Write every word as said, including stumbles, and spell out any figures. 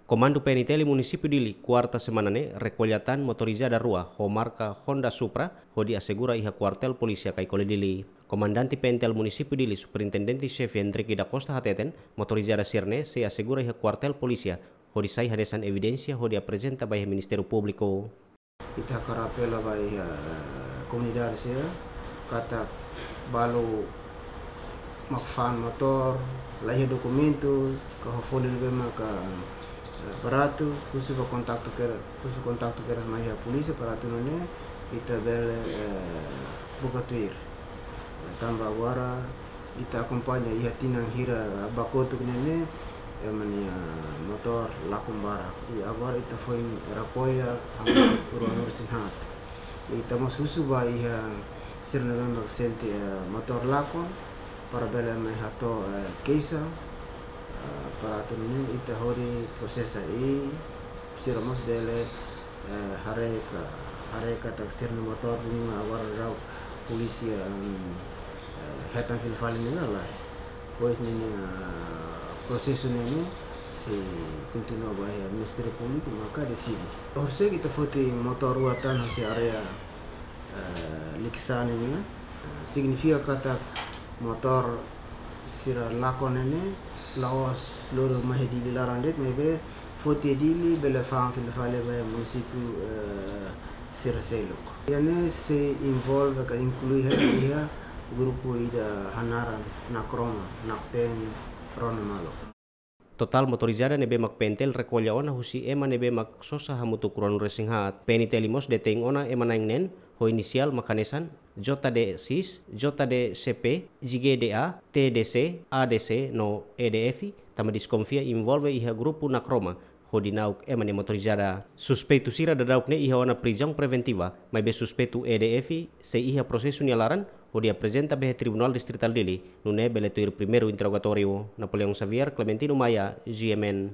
Komandu P N T L Munisípiu Dili, kuarta semana ne'e, rekolla tan motorizada rua ho marka Honda Supra, hodi asegura iha kuartél polísia Caicoli Dili. Komandante P N T L Munisípiu Dili, Superintendente Xefe Hendrick da Costa hateten, motorizada sira-ne'e sei asegura iha kuartél polísia, hodi sai hanesan evidénsia hodi aprezenta ba iha Ministériu Públiku. Ita hakarak apela ba iha komunidade sira, katak balu mak fa'an motór, la iha dokumentu, ka ho folin be maka, eh, baratu, husu ba kontaktu kedas, husu kontaktu kedas mai iha polísia, para atu nune'e ita bele, eh, buka tuir. Eh, tanba agora ita akompaña iha tinan hira ba kotuk ne'e ne'e, ema nia motór lakon barak. I agora ita foin rekolla hamutuk ruanulu-resin-haat. Ita mós husu ba iha sira ne'ebé mak sente, eh, motór lakon, para bele mai hato'o, eh, keixa, eh, para atu nune'e ita hodi prosesa i sira mós bele, eh, haree ka, haree katak sira-nia motór duni mak agora daudaun polísia, em, eh, hetan fila fali ne'e ka lae. Depois ninia, eh, prosesu ne'e ne'e sei kontinua ba iha Ministériu Públiku maka deside. Horisehik ita foti motór rua tan husi área, eh, Likisá ne'e nian, eh, signifika katak motór sira lakon ne'e ne'e la'ós loron mai iha Dili laran de'it, maibé foti iha Dili bele fa'an fila fali ba iha munisípiu, eh, sira seluk. Ida-ne'e sei envolve ka inklui hela iha grupu ida hanaran Nakroma, Nakten, rona malu. Totál motorizada ne'ebé mak P N T L rekolla ona husi ema ne'ebé mak sosa hamutuk ruanulu-resin-haat. P N T L mós detein ona ema na'in neen ho inisiál mak hanesan J D X, J D C P, J G D A, T D C, A D C no E D F, tanba deskonfia envolve iha grupu Nakroma, hodi na'ok ema nia motorizada. Suspeitu sira daudauk ne'e iha ona prizaun preventiva, maibé suspeitu E D F sei iha prosesu nia laran, hodi aprezenta ba iha Tribunál Distritál Dili, nune'e bele tuir primeiru interrogatóriu. Napoleão Xavier, Clementino Maia, G M N.